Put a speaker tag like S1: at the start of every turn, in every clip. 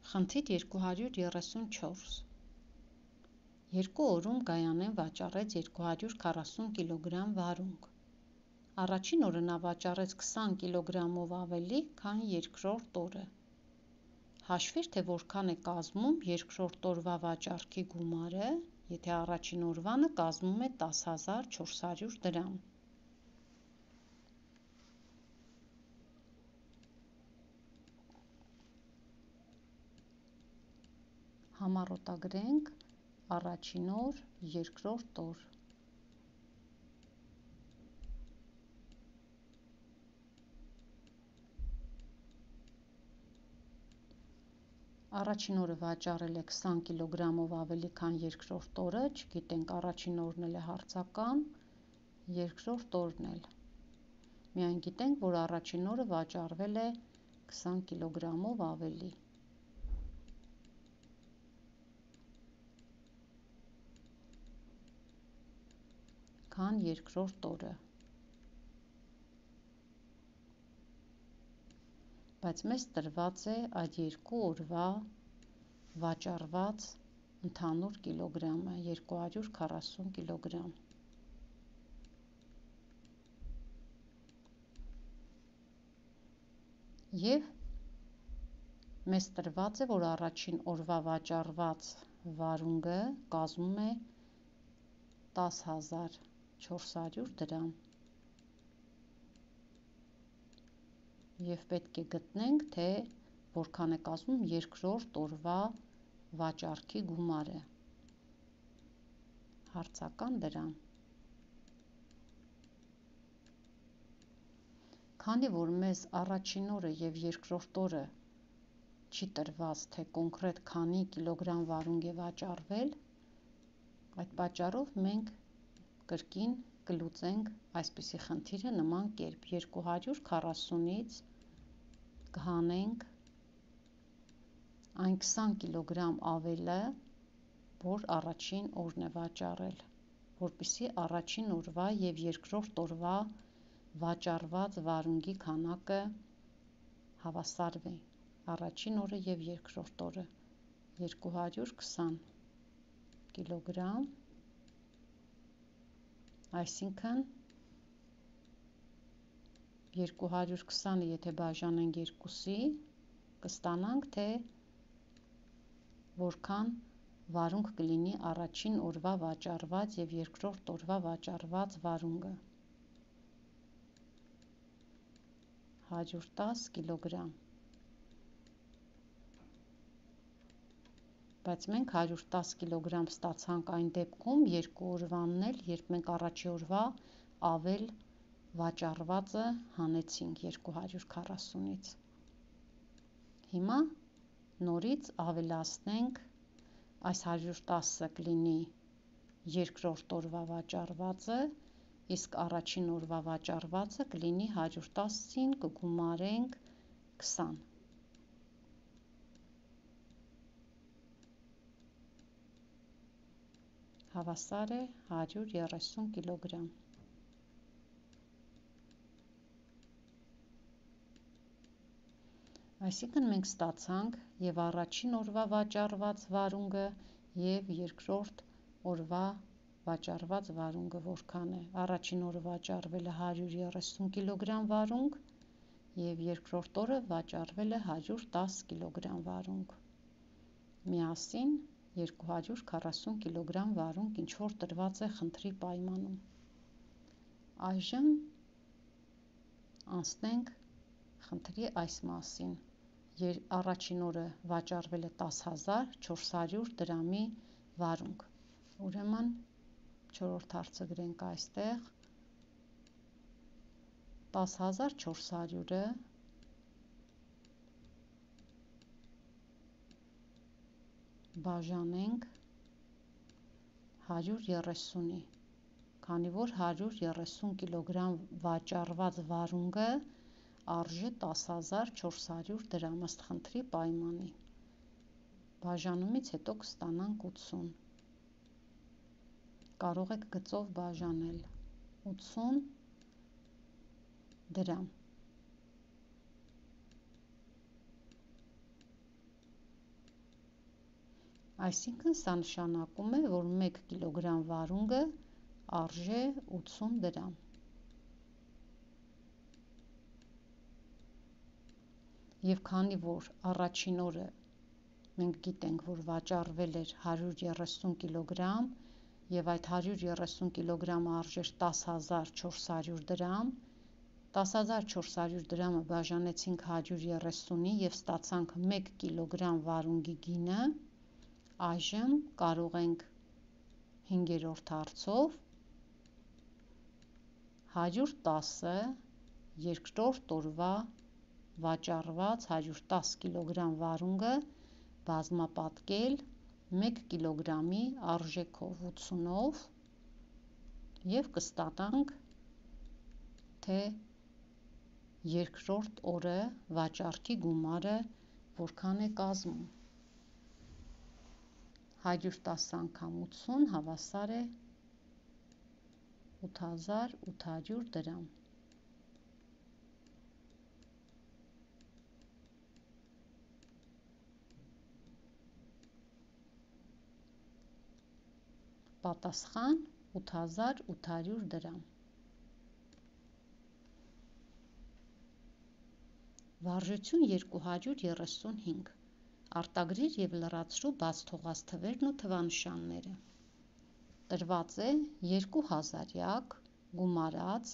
S1: Խնդիր 234 Երկու օրում Գայանեն վաճառեց 240 կգ վարունգ։ Առաջին օրը նա վաճառեց 20 կգ-ով ավելի, քան երկրորդ օրը։ Հաշվիր, թե որքան է կազմում երկրորդ օրվա վաճառքի գումարը, եթե առաջին օրվանը կազմում է 10,400 դրամ։ Համառոտագրենք առաջին օր, երկրորդ օր։ Առաջին օրը վաճառել է 20 կգ-ով ավելի, քան երկրորդ օրը, չգիտենք առաջին օրն էլ է հարցական, երկրորդ օրն էլ։ Միայն գիտենք, որ առաջին օրը վաճառվել է 20 կգ-ով ավելի։ Քան երկրորդ օրը։ Բայց մեզ տրված է այդ երկու օրվա վաճառված ընդհանուր կիլոգրամը 240 կգ։ Եվ մեզ տրված է, որ առաջին օրվա վաճառված վարունգը կազմում է 10,400 դրամ։ Եվ պետք է գտնենք, թե որքան է կազմում երկրորդ օրվա վաճառքի գումարը։ Հարցական դրամ։ Քանի որ մեզ առաջին օրը և երկրորդ օրը չի տրված, թե կոնկրետ քանի կիլոգրամ վարունգ է վաճառվել, այդ պատճառով մենք կրկին կլուծենք այսպիսի խնդիրը նման կերպ. 240-ից կհանենք այն 20 կգ ավելը, որ առաջին օրն է վաճառել, որպեսզի առաջին օրվա և երկրորդ օրվա վաճառված վարունգի քանակը հավասարվի։ Առաջին օրը և երկրորդ օրը 220 կգ, այսինքն 220-ը եթե բաժանենք 2-ի, կստանանք, թե որքան վարունգ կլինի առաջին օրվա վաճառված և երկրորդ օրվա վաճառված վարունգը։ 110 կգ։ Բայց մենք 110 կգ ստացանք այն դեպքում երկու օրվանն էլ, երբ մենք առաջի օրվա ավել վաճառվածը հանեցինք 240-ից։ Հիմա նորից ավելացնենք, այս 110-ը կլինի երկրորդ օրվա վաճառվածը, իսկ առաջին օրվա վաճառվածը կլինի 110-ին կգումարենք 20։ Հավասար է 130 կգ։ Այսինքն մենք ստացանք և առաջին օրվա վաճառված վարունգը և երկրորդ օրվա վաճառված վարունգը որքան է։ Առաջին օրը վաճառվել է 130 կգ վարունգ և երկրորդ օրը վաճառվել է 110 կգ վարունգ։ Միասին 240 կգ վարունգ, ինչ որ տրված է խնդրի պայմանում։ Այժմ անցնենք խնդրի այս մասին։ Առաջին օրը վաճառվել է 10,400 դրամի վարունգ։ Ուրեմն չորրորդ հարցը գրենք այստեղ, 10,400-ը բաժանենք 130-ի, քանի որ 130 կգ վաճառված վարունգը արժե 10,400 դրամ ըստ խնդրի պայմանի։ Բաժանումից հետո կստանանք 80։ Կարող եք գծով բաժանել 80 դրամ։ Այսինքն սա նշանակում է, որ 1 կիլոգրամ վարունգը արժե 80 դրամ։ Եվ քանի որ առաջին օրը մենք գիտենք, որ վաճառվել էր 130 կիլոգրամ և այդ 130 կիլոգրամը արժեր 10,400 դրամ, 10,400 դրամը բաժանեցինք 130-ի և ստացանք 1 կիլոգրամ վարունգի գինը, այժմ կարող ենք 5-րդ հարցով 110-ը երկրորդ օրվա վաճառված 110 կիլոգրամ վարունգը բազմապատկել 1 կիլոգրամի արժեքով 80-ով և կստանանք, թե երկրորդ օրը վաճառքի գումարը որքան է կազմում։ 110 անգամ 80 հավասար է 8800 դրամ։ Պատասխան՝ 8800 դրամ։ Վարժություն 235։ Արտագրիր և լրացրու բաց թողած թվերն ու թվանշանները։ Տրված է 2 հազարյակ, գումարած,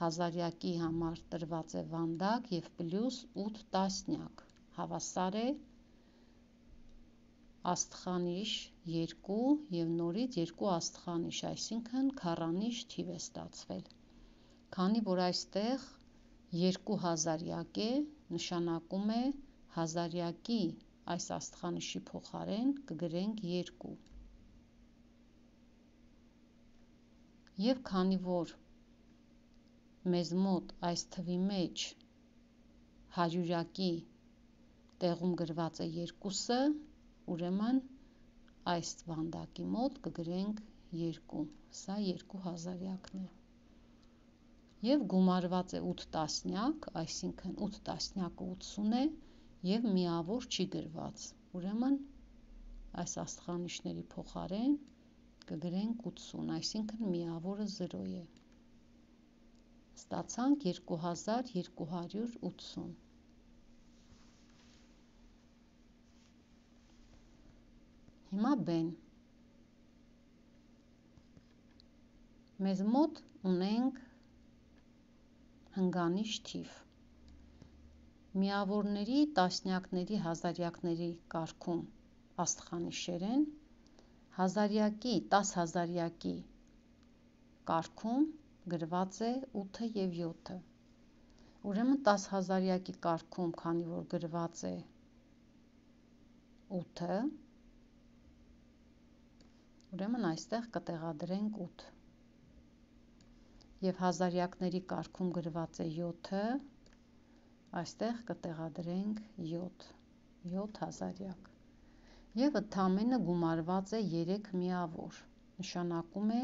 S1: հազարյակի համար տրված է վանդակ և պլյուս 8 տասնյակ, հավասար է աստղանիշ 2 և նորից 2 աստղանիշ, այսինքն քառանիշ թիվ է ստացվել։ Քանի որ այստեղ 2 հազարյակ է, նշանակում է հազարյակի այս աստղանիշի փոխարեն կգրենք 2։ Եվ քանի որ մեզ մոտ այս թվի մեջ հարյուրյակի տեղում գրված է 2-ը, ուրեմն այս վանդակի մոտ կգրենք 2, սա 2 հազարյակն է։ Եվ գումարված է 8 տասնյակ, այսինքն 8 տասնյակը 80 է և միավոր չի գրված, ուրեմն այս աստղանիշների փոխարեն կգրենք 80, այսինքն միավորը 0 է։ Ստացանք 2280։ Հիմա բեն։ Մեզ մոտ ունենք հնգանիշ թիվ։ Միավորների, տասնյակների, հազարյակների կարգում աստղանիշեր են, հազարյակի, 10 հազարյակի կարգում գրված է 8-ը և 7-ը։ Ուրեմն 10 հազարյակի կարգում, քանի որ գրված է 8-ը, ուրեմն այստեղ կտեղադրենք 8։ Եվ հազարյակների կարգում գրված է 7-ը, այստեղ կտեղադրենք 7, 7 հազարյակ։ Եվ ընդամենը գումարված է 3 միավոր, նշանակում է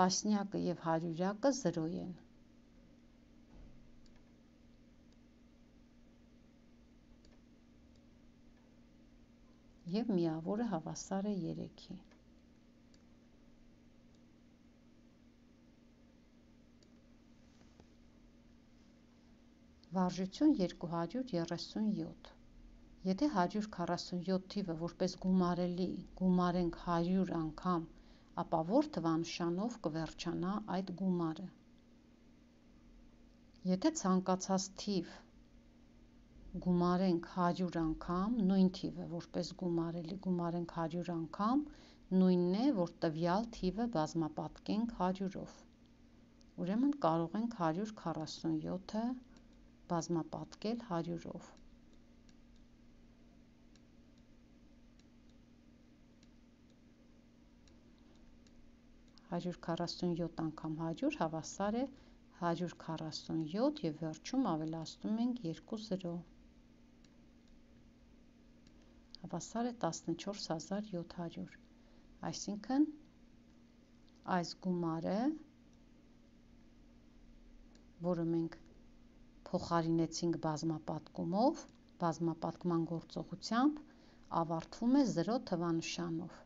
S1: տասնյակը և հարյուրյակը 0 են։ Եվ միավորը հավասար է 3-ի։ Վարժություն 237։ Եթե 147 թիվը որպես գումարելի գումարենք 100 անգամ, ապա որ թվանշանով կվերջանա այդ գումարը։ Եթե ցանկացած թիվ գումարենք 100 անգամ, նույն թիվը որպես գումարելի գումարենք 100 անգամ, նույնն է, որ տվյալ թիվը բազմապատկենք 100-ով։ Ուրեմն կարող ենք 147-ը բազմապատկել 100-ով։ 147 անգամ 100 հավասար է 147 և վերջում ավելացնում ենք 2 0։ Հավասար է 14700, այսինքն այս գումարը, որը մենք փոխարինեցինք բազմապատկումով, բազմապատկման գործողությամբ, ավարտվում է 0 թվանշանով։